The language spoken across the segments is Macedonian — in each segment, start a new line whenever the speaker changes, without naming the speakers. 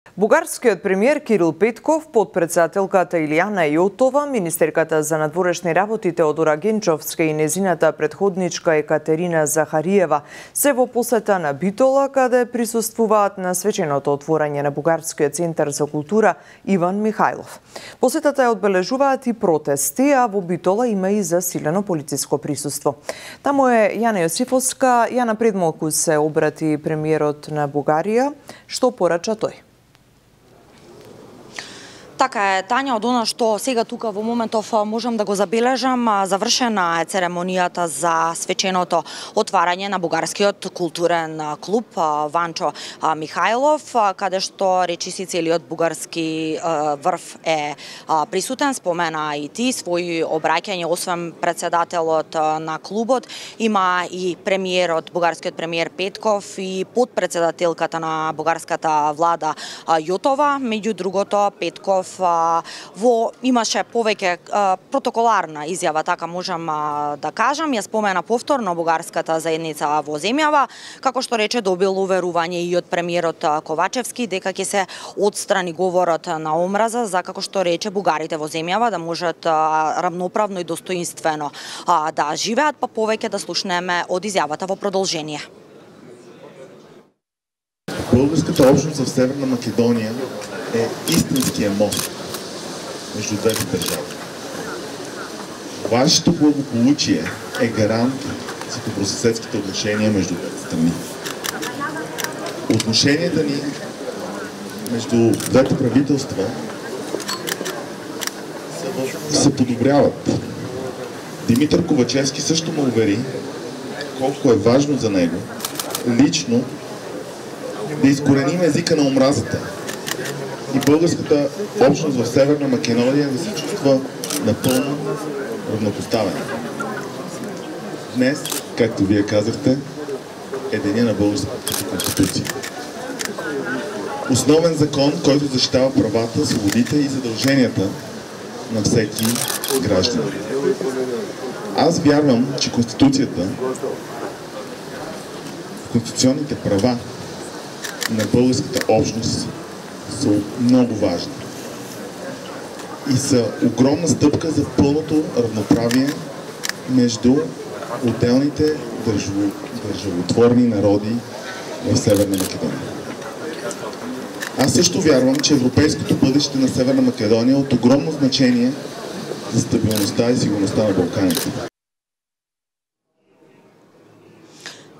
Бугарскиот премиер Кирил Петков, подпредседателката Илијана Јотова, министерката за надворешни работи Теодора Генчовска и незината предходничка Екатерина Захариева се во посета на Битола, каде присуствуваат на свеченото отворање на Бугарскиот центар за култура Иван Михајлов. Посетата ја одбележуваат и протести, а во Битола има и засилено полициско присуство. Таму е Јана Јосифовска. Јана, пред малку се обрати премиерот на Бугарија. Што порача тој?
Така е, Тања, од она што сега тука во моментов можам да го забележам, завршена е церемонијата за свеченото отварање на Бугарскиот културен клуб Ванчо Михајлов, каде што речиси целиот бугарски врв е присутен. Спомена и ти своји обраќање, освен председателот на клубот, има и премиерот, бугарскиот премиер Петков и подпредседателката на бугарската влада Јотова. Меѓу другото, Петков имаше повеќе протоколарна изјава, така можам да кажам. Ја спомена повторно бугарската заедница во земјава, како што рече добил уверување и од премиерот Ковачевски дека ќе се отстрани говорот на омраза, за како што рече бугарите во земјава да можат равноправно и достоинствено да живеат, па повеќе да слушнеме од изјавата во продолжение.
Българската общност в Северна Македония е истинския мост между двете държави. Вашето благополучие е гарант за добросъседските отношения между двете страни. Отношенията ни между двете правителства се подобряват. Димитър Ковачевски също ме увери колко е важно за него лично да изкореним езика на омразата и българската общност в Северна Македония да се чувства напълно равнопоставена. Днес, както вие казахте, е деня на българската конституция. Основен закон, който защитава правата, свободите и задълженията на всеки гражданин. Аз вярвам, че Конституцията, конституционните права на българската общност са много важни и са огромна стъпка за пълното равноправие между отделните държавотворни народи в Северна Македония. Аз също вярвам, че европейското бъдеще на Северна Македония е от огромно значение за стабилността и сигурността на Балканите.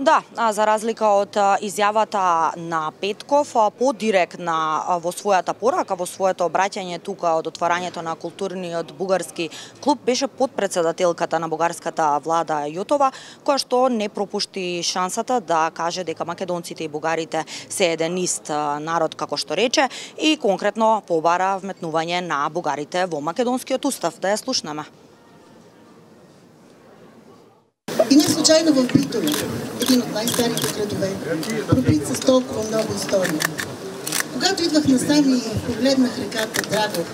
Да, за разлика од изјавата на Петков, подиректна во својата порака, во своето обраќање тука од отварањето на културниот бугарски клуб беше подпредседателката на бугарската влада Јотова, која што не пропушти шансата да каже дека македонците и бугарите се еден ист народ, како што рече, и конкретно побара вметнување на бугарите во македонскиот устав. Да ја слушнеме.
И не случайно в Битола, един от най-старите градове, пробит с толкова много истории. Когато идвах насам и погледнах реката Драгов,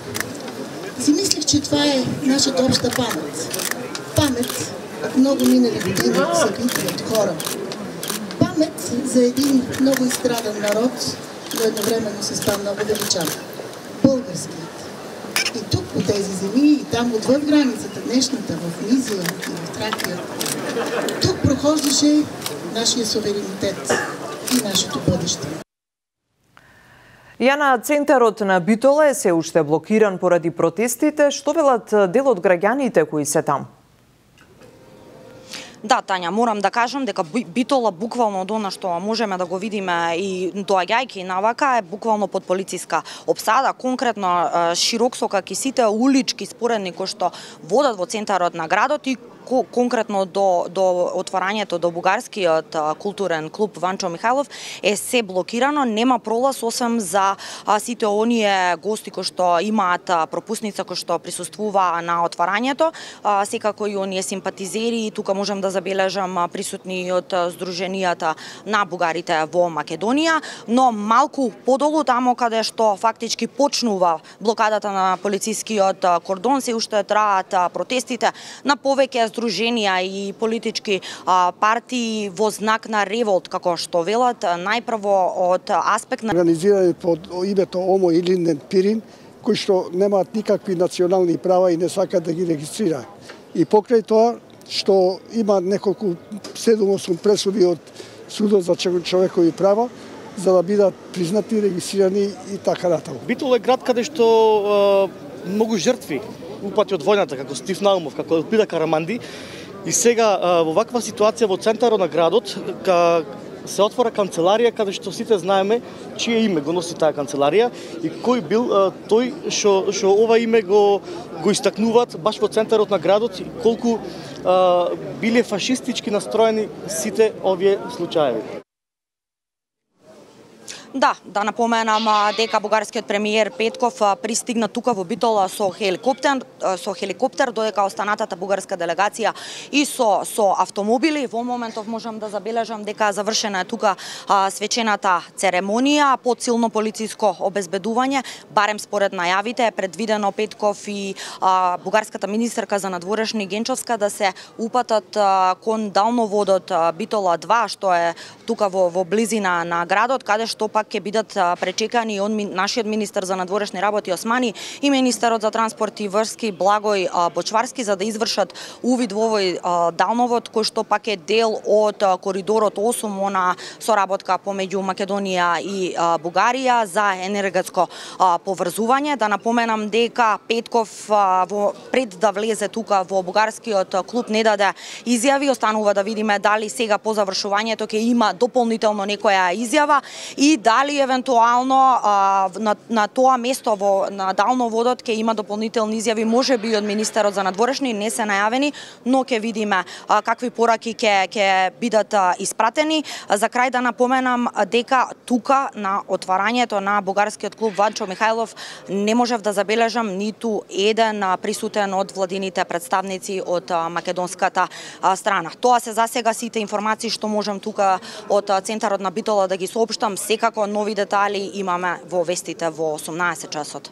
си мислех, че това е нашата обща памет. Памет от много минали години от събития, от хора. Памет за един много изстрадан народ, но едновременно с това много величав. Българският. И тук по тези земи, и там отвъд границата, днешната, в Мизия и в Тракия, тук прохождаше нашия суверенитет и нашето бъдеще.
Јана, центарот на Битола е се уште блокиран поради протестите. Што велат дел од граѓаните кои се там?
Да, Тања, морам да кажам дека Битола буквално од она што можеме да го видиме и доаѓајќи навака е буквално под полициска обсада, конкретно широксока сите улички споредни кои што водат во центарот на градот и конкретно до отварањето до бугарскиот културен клуб Ванчо Михајлов е се блокирано, нема пролаз освен за сите оние гости кои што имаат пропусница кои што присуствуваа на отварањето, секако и оние симпатизери, тука можам да забележам присутни од Сдруженијата на бугарите во Македонија, но малку подолу тамо каде што фактички почнува блокадата на полицискиот кордон, се уште траат протестите на повеќе сдруженија и политички партии во знак на револт, како што велат, најпрво од аспект на
организирани под името Омо или Пирин, кои што немаат никакви национални права и не сакаат да ги регистрира. И покрај тоа што има неколку 7-8 пресуди од Судот за човекови права, за да бидат признати, регистрирани и така натаму.
Битол е град каде што многу жртви упати од војната, како Стив Наумов, како Елпида Караманди. И сега во ваква ситуација во центарот на градот се отвора канцеларија каде што сите знаеме чие име го носи таа канцеларија и кој бил тој што ова име го истакнуваат баш во центарот на градот и колку биле фашистички настроени сите овие случаи.
Да напоменам дека бугарскиот премиер Петков пристигна тука во Битола со хеликоптер, додека останатата бугарска делегација и со автомобили. Во моментов можам да забележам дека завршена е тука свечената церемонија под силно полициско обезбедување, барем според најавите е предвидено Петков и бугарската министерка за надворешни Генчовска да се упатат кон далноводот Битола 2, што е тука во близина на градот, каде што пак ќе бидат пречекани од нашиот министер за надворешни работи Османи и министерот за транспорт и врски Благој Бочварски за да извршат увид во овој далновод кој што пак е дел од коридорот 8, она соработка помеѓу Македонија и Бугарија за енергетско поврзување. Да напоменам дека Петков пред да влезе тука во бугарскиот клуб не даде изјави, останува да видиме дали сега по завршувањето ќе има дополнително некоја изјава и дали евентуално на тоа место на далноводот ќе има дополнителни изјави, можеби од министерот за надворешни, не се најавени, но ќе видиме какви пораки ќе бидат испратени. За крај да напоменам дека тука на отварањето на бугарскиот клуб Ванчо Михајлов не можев да забележам ниту еден присутен од владините представници од македонската страна. Тоа се за сега сите информации што можам тука од центарот на Битола да ги соопштам. Секако нови детали имаме во вестите во 18 часот.